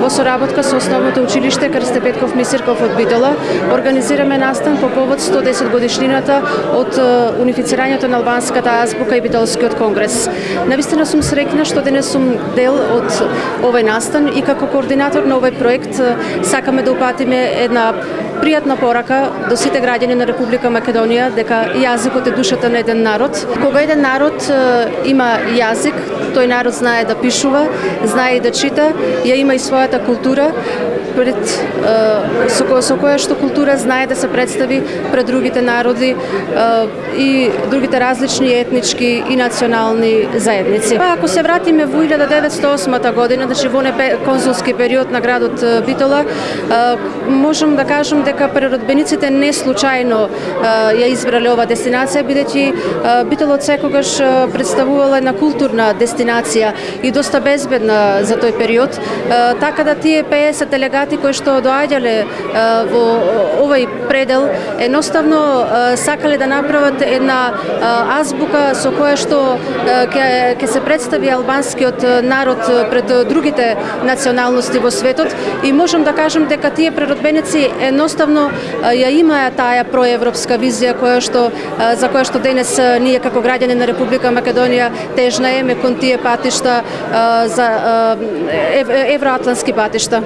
во соработка со Основното училиште Крсте Петков Мисирков од Битола организираме настан по повод 110 годишнината од унифицирањето на албанската азбука и Битолскиот конгрес. Навистина сум среќна што денес сум дел од овој настан и како координатор на овој проект сакаме да упатиме една пријатна порака до сите граѓани на Република Македонија дека јазикот е душата на еден народ. Кога еден народ има јазик, тој народ знае да пишува, знае и да чита, ја има и својата култура, со која што култура знае да се представи пред другите народи и другите различни етнички и национални заедници. Ако се вратиме во 1908 година, значи во конзулски период на градот Битола, можам да кажам дека преродбениците не случајно ја избрале ова дестинација, бидејќи Битола секогаш представувала една културна дестинација и доста безбедна за тој период, така да тие 50 делегати кои што доаѓале во овој предел едноставно сакале да направат една азбука со која што ќе се представи албанскиот народ пред другите националности во светот и можам да кажам дека тие преродбеници едноставно ја имаа таа проевропска визија за која што денес ние како граѓани на Република Македонија тежнаеме кон тие патишта за евроатлантски патишта.